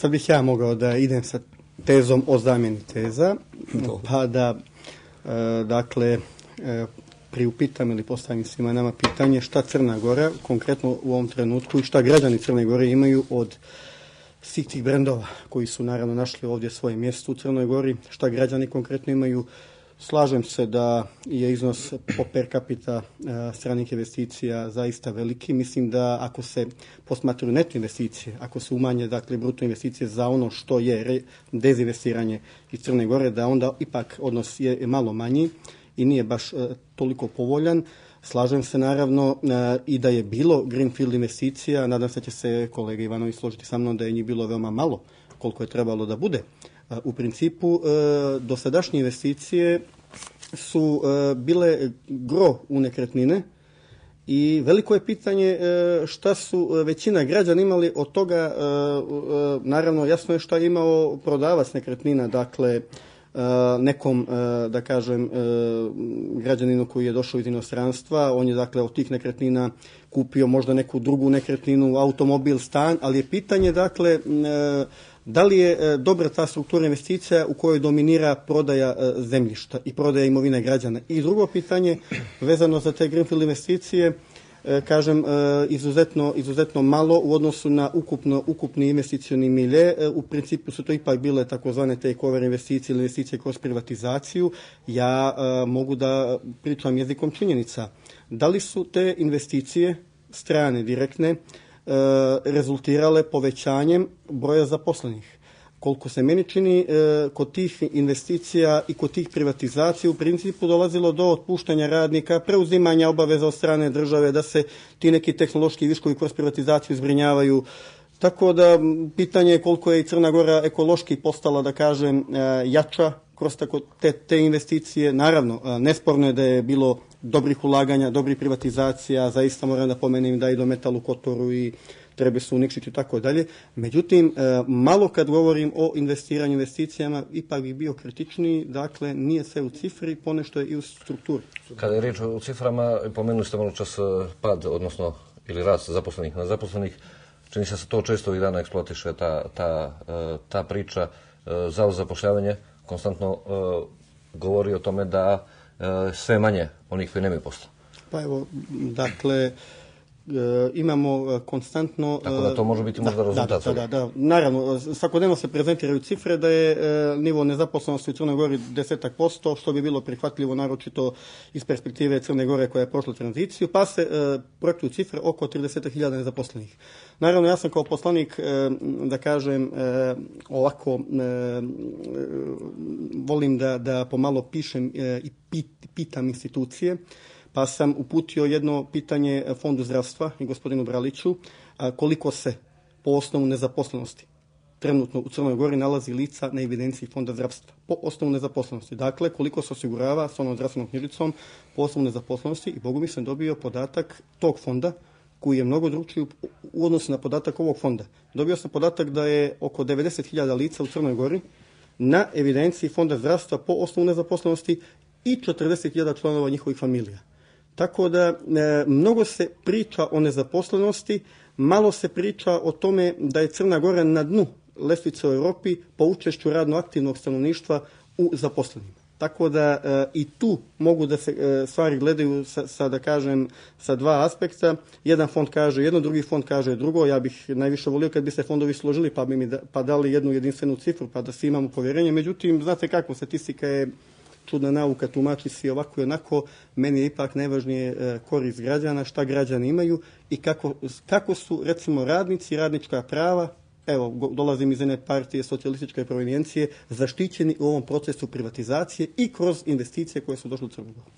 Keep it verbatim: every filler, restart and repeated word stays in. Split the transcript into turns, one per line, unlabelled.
sad bih ja mogao da idem sa tezom o zamjeni teza,
Dobro.
pa da, e, dakle, e, priupitam ili postavim svima nama pitanje šta Crna Gora, konkretno u ovom trenutku, i šta građani Crne Gore imaju od svih tih brendova koji su naravno našli ovdje svoje mjesto u Crnoj Gori, šta građani konkretno imaju. Slažem se da je iznos po per capita a, stranih investicija zaista veliki. Mislim da ako se posmatraju neto investicije, ako se umanje dakle bruto investicije za ono što je re, dezinvestiranje iz Crne Gore, da onda ipak odnos je malo manji i nije baš a, toliko povoljan. Slažem se naravno a, i da je bilo greenfield investicija. Nadam se da će se kolega Ivanović složiti sa mnom da je njih bilo veoma malo koliko je trebalo da bude. U principu, dosadašnje investicije su bile gro u nekretnine i veliko je pitanje šta su većina građana imali od toga. Naravno, jasno je šta je imao prodavac nekretnina, dakle, nekom, da kažem, građaninu koji je došao iz inostranstva, on je dakle od tih nekretnina kupio možda neku drugu nekretninu, automobil, stan, ali je pitanje dakle da li je dobra ta struktura investicija u kojoj dominira prodaja zemljišta i prodaja imovine građana. I drugo pitanje vezano za te greenfield investicije, kažem, izuzetno, izuzetno malo u odnosu na ukupno, ukupni investicioni milje. U principu su to ipak bile takozvane take-over investicije ili investicije kroz privatizaciju. Ja mogu da pričam jezikom činjenica. Da li su te investicije strane, direktne, rezultirale povećanjem broja zaposlenih? Koliko se meni čini, kod tih investicija i kod tih privatizacija u principu dolazilo do otpuštanja radnika, preuzimanja obaveza od strane države, da se ti neki tehnološki viškovi kroz privatizaciju zbrinjavaju. Tako da pitanje je koliko je i Crna Gora ekološki postala, da kažem, jača kroz tako te, te investicije. Naravno, nesporno je da je bilo dobrih ulaganja, dobrih privatizacija, zaista moram da pomenem da i do Metal u Kotoru i Treba su Nikšić i tako dalje. Međutim, malo kad govorim o investiranju investicijama, ipak bih bio kritičniji, dakle nije sve u cifri, ponešto je i u strukturi.
Kada je riječ o ciframa, pomenuli ste malo čas pad, odnosno ili rast zaposlenih na zaposlenih, čini se da se to često ovih dana eksploatiše, ta, ta, ta priča. Zavod za zapošljavanje konstantno govori o tome da sve manje onih koji nemaju posla.
Pa evo, dakle, E, imamo konstantno...
Tako da to može biti možda rezultat.
Da, da, da, da. Naravno, svakodnevno se prezentiraju cifre da je e, nivo nezaposlenosti u Crnoj Gori desetak posto, što bi bilo prihvatljivo naročito iz perspektive Crne Gore koja je prošla tranziciju, pa se e, projektuju cifre oko trideset hiljada nezaposlenih. Naravno, ja sam kao poslanik, e, da kažem, e, ovako, e, volim da, da pomalo pišem e, i pit, pitam institucije, pa sam uputio jedno pitanje Fondu zdravstva i gospodinu Braliću, koliko se po osnovu nezaposlenosti trenutno u Crnoj Gori nalazi lica na evidenciji Fonda zdravstva. Po osnovu nezaposlenosti. Dakle, koliko se osigurava s onom zdravstvenom knjižicom po osnovu nezaposlenosti, i Bogu mi sam dobio podatak tog fonda koji je mnogo drugčiji u odnosu na podatak ovog fonda. Dobio sam podatak da je oko devedeset hiljada lica u Crnoj Gori na evidenciji Fonda zdravstva po osnovu nezaposlenosti i četrdeset hiljada članova njihovih familija. Tako da e, mnogo se priča o nezaposlenosti, malo se priča o tome da je Crna Gora na dnu lestvice u Europi po učešću radno aktivnog stanovništva u zaposlenima. Tako da e, i tu mogu da se e, stvari gledaju sa, sa, da kažem, sa dva aspekta. Jedan fond kaže jedno, drugi fond kaže drugo. Ja bih najviše volio kad bi se fondovi složili pa bi mi da, pa dali jednu jedinstvenu cifru pa da svi imamo povjerenje. Međutim, znate kako, statistika je čudna nauka, tumači si ovako i onako. Meni je ipak najvažnije korist građana, šta građani imaju i kako, kako su, recimo, radnici, radnička prava, evo, dolazim iz jedne partije socijalističke provenijencije, zaštićeni u ovom procesu privatizacije i kroz investicije koje su došle u Crnu Goru.